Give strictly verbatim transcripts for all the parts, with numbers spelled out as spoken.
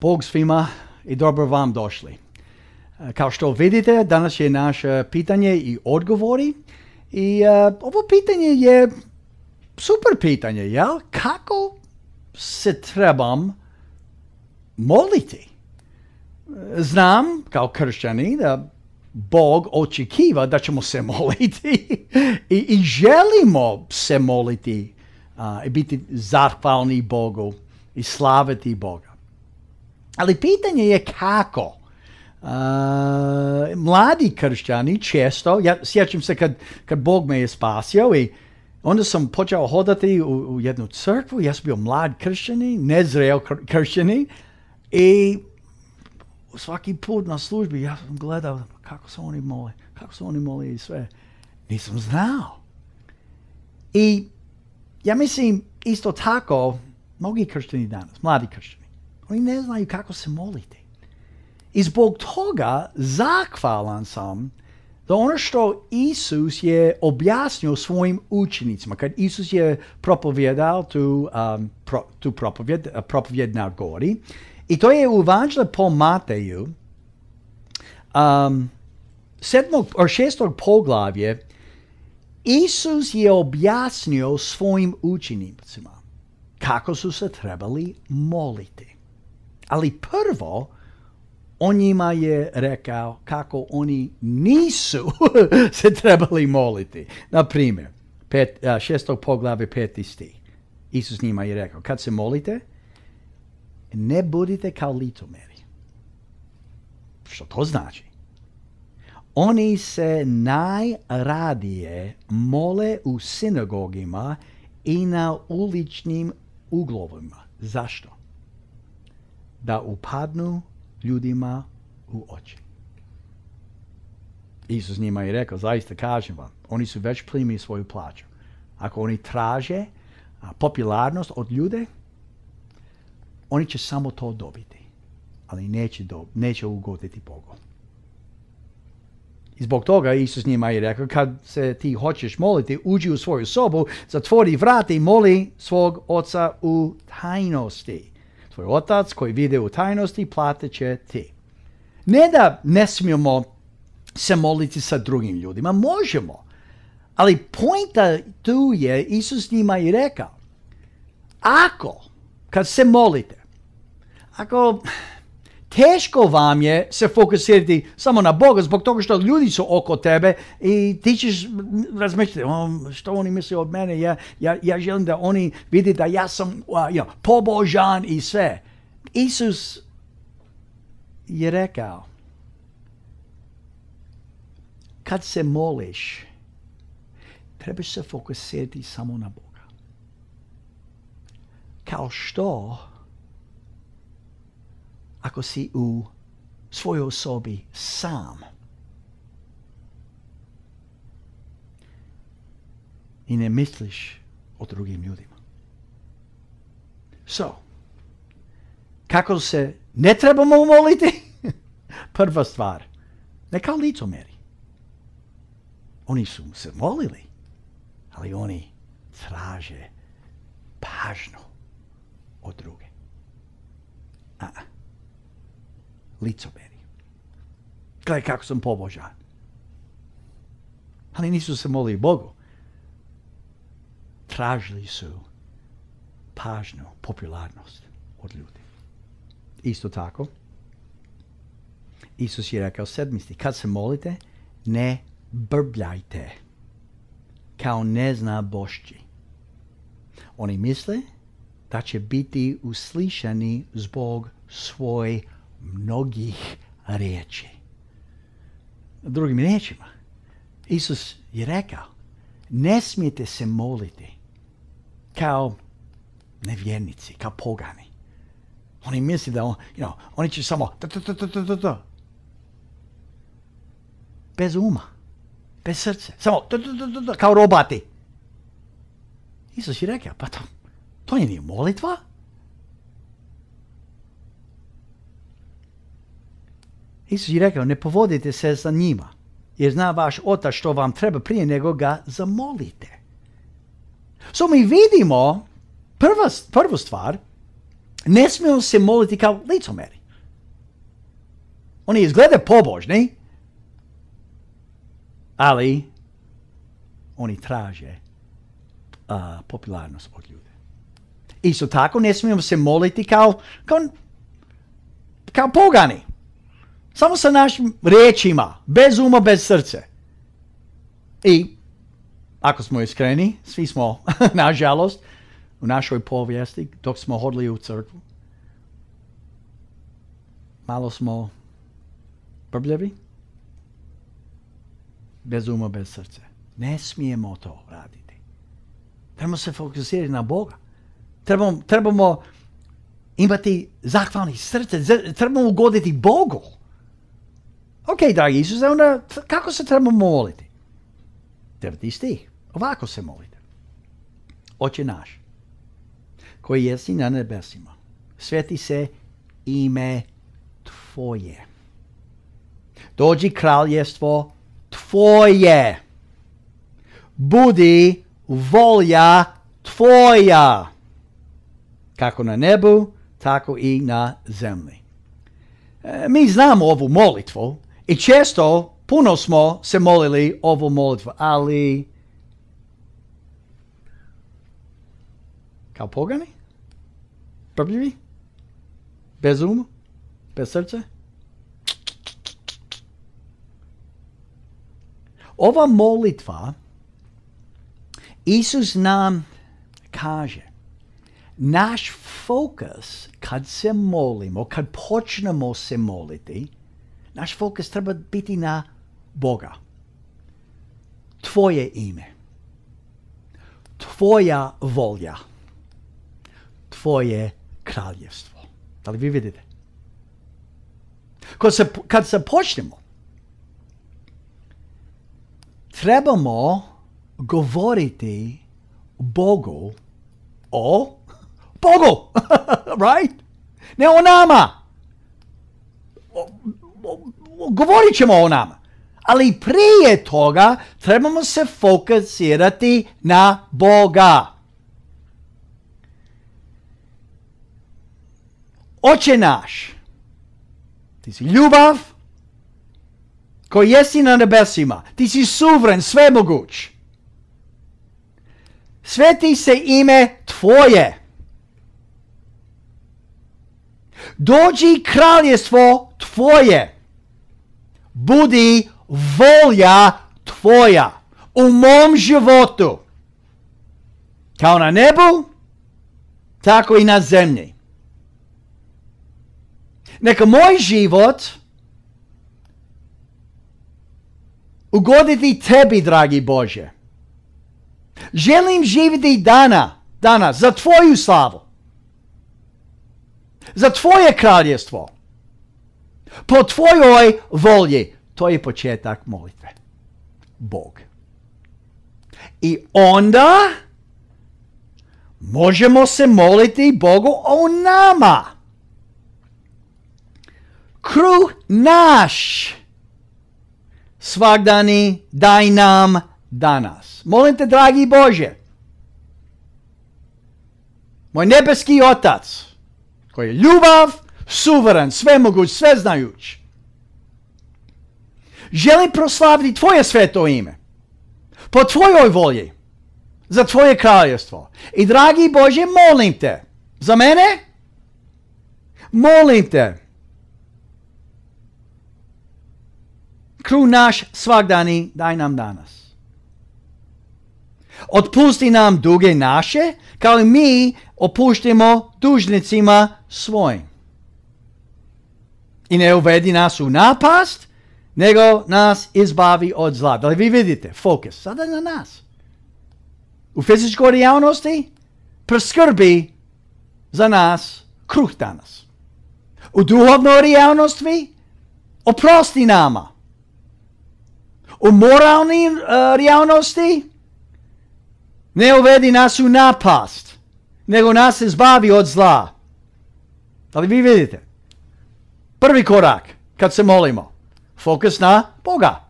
Bog svima i dobro vam došli. Kao što vidite, danas je naše pitanje i odgovori. I uh, ovo pitanje je super pitanje, jel? Kako se trebam moliti? Znam, kao kršćani, da Bog očekiva da ćemo se moliti i, i želimo se moliti uh, i biti zahvalni Bogu i slaviti Boga. Ali pitanje je kako. Uh, mladi kršćani često, ja sjećam se kad, kad Bog me je spasio i onda sam počeo hodati u, u jednu crkvu, ja sam bio mlad kršćani, nezreo kršćani i svaki put na službi ja sam gledao kako se oni mole, kako se oni mole i sve. Nisam znao. I ja mislim isto tako, mnogi kršćani danas, mladi kršćani, oni ne znaju kako se moliti. I zbog toga zahvalan sam da ono što Isus je objasnio svojim učenicima, kad Isus je propovjedao tu, um, pro, tu propovjed, propovjed na gori, i to je u Evanđelju po Mateju, um, sedmog, or šestog poglavlje, Isus je objasnio svojim učenicima kako su se trebali moliti. Ali prvo, on njima je rekao kako oni nisu se trebali moliti. Na primjer, pet, uh, šestog poglavlje peti stih. Isus njima je rekao, kad se molite, ne budite kao licemjeri. Što to znači? Oni se najradije mole u sinagogima i na uličnim uglovima. Zašto? Da upadnu ljudima u oči. Isus njima je rekao, zaista kažem vam, oni su već primili svoju plaću. Ako oni traže a, popularnost od ljude, oni će samo to dobiti, ali neće, do, neće ugoditi Bogu. I zbog toga Isus njima je rekao, kad se ti hoćeš moliti, uđi u svoju sobu, zatvori vrata i moli svog oca u tajnosti. Tvoj otac koji vide u tajnosti, platit će ti. Ne da ne smijemo se moliti sa drugim ljudima, možemo. Ali pointa tu je, Isus njima je rekao, ako, kad se molite, ako teško vam je se fokusirati samo na Boga zbog toga što ljudi su oko tebe i ti ćeš razmišljati, oh, što oni misle od mene, ja, ja, ja želim da oni vidi da ja sam uh, you know, pobožan i sve. Isus je rekao, kad se moliš, trebaš se fokusirati samo na Boga. Kao što ako si u svojoj sobi sam i ne misliš o drugim ljudima. So, kako se ne trebamo moliti? Prva stvar, ne kao licemjeri. Oni su se molili, ali oni traže pažnju od druge. A, licemjeri. Gledaj kako sam pobožan. Ali nisu se molili Bogu. Tražili su pažnju, popularnost od ljudi. Isto tako, Isus je rekao sedmisti, kad se molite, ne brbljajte kao neznabošći. Oni misle da će biti uslišani zbog svoj mnogih riječi. Drugim riječima, Isus je rekao, ne smijete se moliti kao nevjernici, kao pogani. Oni misle da on, you know, oni će samo ta, ta, ta, ta, ta, ta. Bez uma, bez srce, samo ta, ta, ta, ta, kao roboti. Isus je rekao, pa to, to nije molitva. Isus je rekao, ne povodite se za njima, jer zna vaš otac što vam treba prije nego ga zamolite. So mi vidimo, prva, prvu stvar, ne smijemo se moliti kao licemjeri. Oni izgledaju pobožni, ali oni traže uh, popularnost od ljude. Isto tako ne smijemo se moliti kao, kao, kao pogani. Samo sa našim riječima, bez uma, bez srce. I ako smo iskreni, svi smo, nažalost, u našoj povijesti, dok smo hodili u crkvu, malo smo brbljevi, bez uma, bez srce. Ne smijemo to raditi. Trebamo se fokusirati na Boga. Trebamo, trebamo imati zahvalni srce, trebamo ugoditi Bogu. Ok, dragi Isuse, onda kako se trebamo moliti? Deveti stih. Ovako se molite. Oče naš, koji jesi na nebesima, sveti se ime Tvoje. Dođi kraljestvo Tvoje. Budi volja Tvoja. Kako na nebu, tako i na zemlji. E, mi znamo ovu molitvu i često, puno smo se molili ovu molitvu, ali kao pogani? Brbljivi? Bez uma? Bez srca? Ova molitva, Isus nam kaže, naš fokus kad se molimo, kad počnemo se moliti, naš fokus treba biti na Boga. Tvoje ime. Tvoja volja. Tvoje kraljevstvo. Da li vi vidite? Kad se, kad se počnemo, trebamo govoriti Bogu o Bogu, right? Ne o nama. O, o, o, govorit ćemo o nama. Ali prije toga trebamo se fokusirati na Boga. Oče naš, ti si ljubav koji jesi na nebesima. Ti si suveren, svemoguć. Sveti se ime Tvoje. Dođi kraljestvo Tvoje. Budi volja Tvoja u mom životu. Kao na nebu, tako i na zemlji. Neka moj život ugoditi Tebi, dragi Bože. Želim živjeti dana, danas za Tvoju slavu. Za Tvoje kraljestvo. Po Tvojoj volji. To je početak molitve. Bog. I onda možemo se moliti Bogu o nama. Kruh naš svagdani daj nam danas. Molim te, dragi Bože, moj nebeski Otac, koji je ljubav, suveren, svemoguć, sveznajuć, želim proslaviti Tvoje sveto ime, po Tvojoj volji, za Tvoje kraljestvo. I dragi Bože, molim te, za mene, molim te, kruh naš svagdani daj nam danas. Otpusti nam duge naše, kao i mi opuštimo dužnicima svojim. I ne uvedi nas u napast, nego nas izbavi od zla. Da li vi vidite? Fokus. Sada na nas. U fizičkoj realnosti preskrbi za nas kruh danas. U duhovnoj realnosti oprosti nama. U moralnoj uh, realnosti ne uvedi nas u napast, nego nas izbavi od zla. Da li vi vidite? Prvi korak kad se molimo. Fokus na Boga.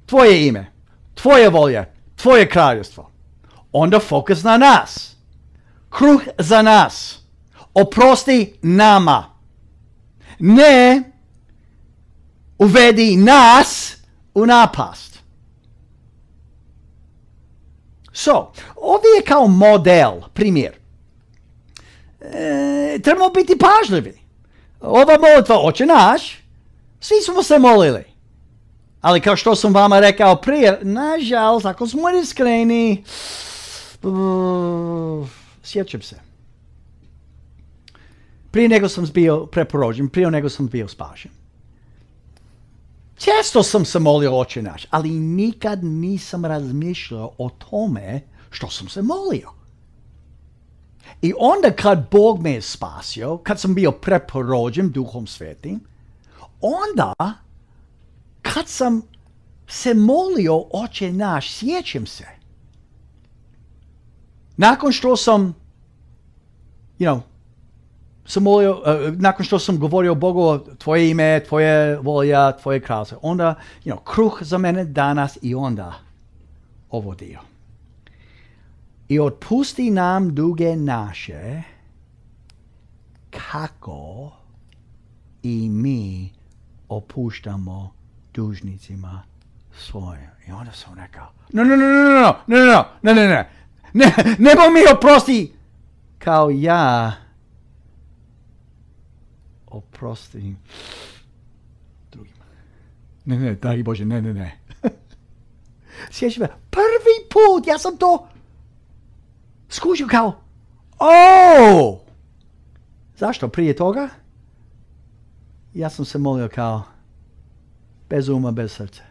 Tvoje ime, Tvoje volje, Tvoje kraljevstvo. Onda fokus na nas. Kruh za nas. Oprosti nama. Ne uvedi nas u napast. So, ovdje je kao model, primjer. E, trebamo biti pažljivi. Ova molitva, Oče naš, svi smo se molili. Ali kao što sam vama rekao prije, nažalost, ako smo iskreni, uh, sjećam se. Prije nego sam bio preporođen, prije nego sam bio spašen. Često sam se molio Oče naš, ali nikad nisam razmišljao o tome što sam se molio. I onda kad Bog me je spasio, kad sam bio preporođen Duhom Svetim, onda kad sam se molio Oče naš, sjećam se. Nakon što sam, you know, sam molio, uh, nakon što sam govorio Bogu, tvoje ime, tvoje volja, tvoje kralstvo, onda, you know, kruh za mene danas i onda ovo dio. I otpusti nam duge naše, kako i mi opuštamo dužnicima svojim. I onda sam rekao, no, no, no, no, no, no, no, no, no, no, no, ne, nebo mi oprosti, kao ja oprostim drugima. Ne, ne, dragi Bože, ne, ne, ne. Sjećam me, prvi put, ja sam to skužio kao, o! Zašto? Prije toga ja sam se molio kao bez uma, bez srca.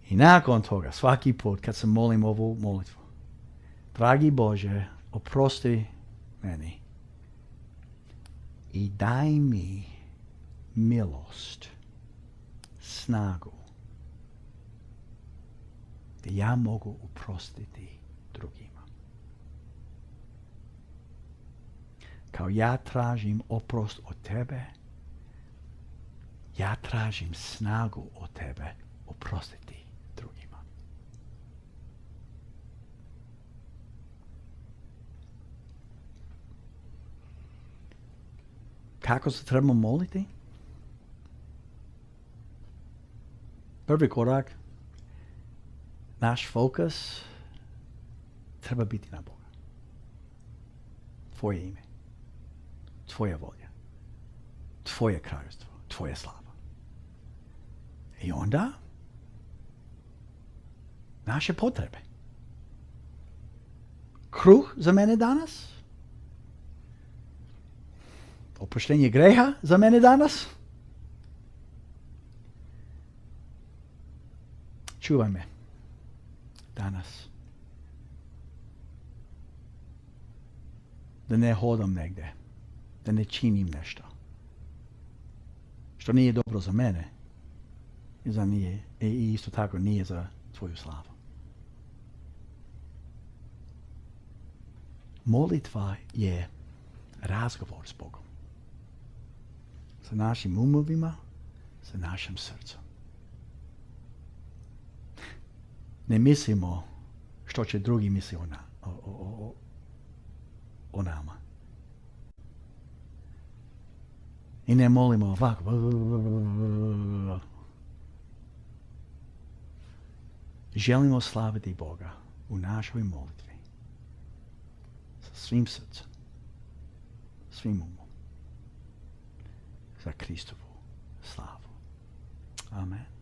I nakon toga, svaki put kad se molim ovu molitvu, dragi Bože, oprosti meni i daj mi milost, snagu, da ja mogu oprostiti drugima. Kao ja tražim oprost od tebe, ja tražim snagu od tebe oprostiti drugima. Kako se trebamo moliti? Prvi korak, naš fokus treba biti na Boga. Tvoje ime, tvoja volja, tvoje kraljevstvo, tvoja slava. I onda naše potrebe. Kruh za mene danas? Oproštenje greha za mene danas? Čuvaj me danas. Da ne hodam negdje. Da ne činim nešto. Što nije dobro za mene. I, za nije, i isto tako nije za tvoju slavu. Molitva je razgovor s Bogom. Sa našim umovima, sa našim srcem. Ne mislimo što će drugi misli o, na, o, o, o, o nama. I ne molimo ovako. Želimo slaviti Boga u našoj molitvi. Sa svim srcem. Svim umom. Za Kristovu slavu. Amen.